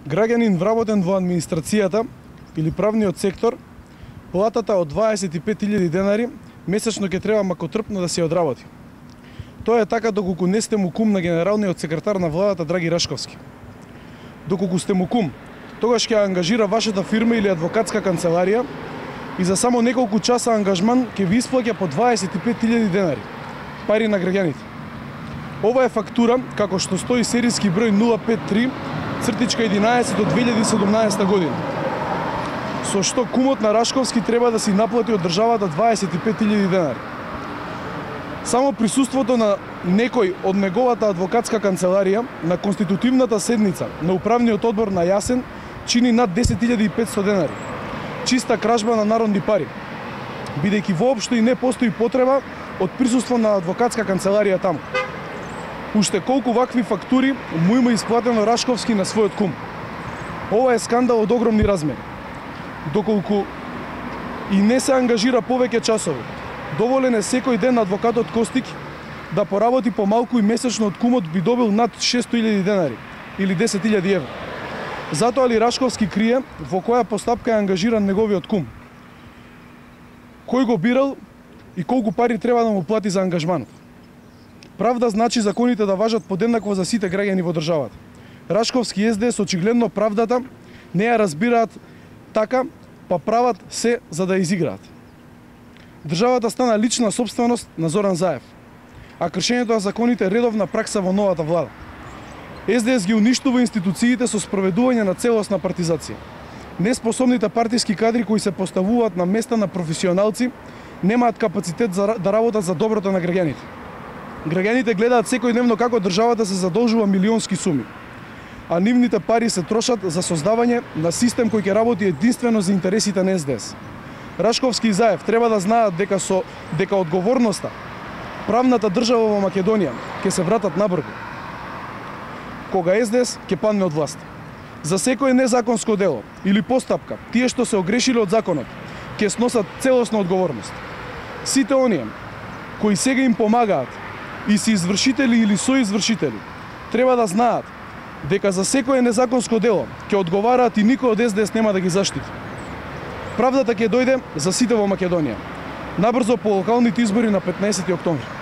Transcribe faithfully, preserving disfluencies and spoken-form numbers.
Граѓанин вработен во администрацијата или правниот сектор, платата од дваесет и пет илјади денари месечно ќе треба макотрпно да се одработи. Тоа е така доколку не сте му кум на генералниот секретар на владата Драги Рашковски. Доколку сте му кум, тогаш ќе ангажира вашата фирма или адвокатска канцеларија и за само неколку часа ангажман ќе ви исплаќа по дваесет и пет илјади денари, пари на граѓаните. Ова е фактура како што стои серијски број нула пет три цртичка единаесет од две илјади и седумнаесета година. Со што кумот на Рашковски треба да си наплати од државата дваесет и пет илјади денари. Само присуството на некој од неговата адвокатска канцеларија на конститутивната седница на управниот одбор на Јасен чини над десет илјади и петстотини денари. Чиста кражба на народни пари, бидејќи воопшто и не постои потреба од присуство на адвокатска канцеларија таму. Уште колку вакви фактури му има исплатено Рашковски на својот кум. Ова е скандал од огромни размери. Доколку и не се ангажира повеќе часови, доволен е секој ден адвокатот Костик да поработи помалку и месечно од кумот би добил над шестоста илјади денари или десет илјади евра. Затоа ли Рашковски крие во која постапка е ангажиран неговиот кум? Кој го бирал и колку пари треба да му плати за ангажманот? Правда значи законите да важат подеднакво за сите граѓани во државата. Рашковски и СДС очигледно правдата не ја разбираат така, па прават се за да изиграат. Државата стана лична собственост на Зоран Заев, а кршењето на законите е редовна пракса во новата влада. СДС ги уништува институциите со спроведување на целосна партизација. Неспособните партиски кадри кои се поставуваат на места на професионалци немаат капацитет за, да работат за доброто на граѓаните. Граѓаните гледаат секојдневно како државата се задолжува милионски суми, а нивните пари се трошат за создавање на систем кој ќе работи единствено за интересите на СДС. Рашковски и Заев треба да знаат дека со дека одговорноста, правната држава во Македонија ќе се вратат набрзо кога СДС ќе падне од власт. За секое незаконско дело или постапка, тие што се огрешиле од законот ќе сносат целосна одговорност. Сите оние кои сега им помагаат и се извршители или соизвршители треба да знаат дека за секое незаконско дело ќе одговараат и никој од СДС нема да ги заштити. Правдата ќе дојде за сите во Македонија. Набрзо по локалните избори на петнаесети октомври.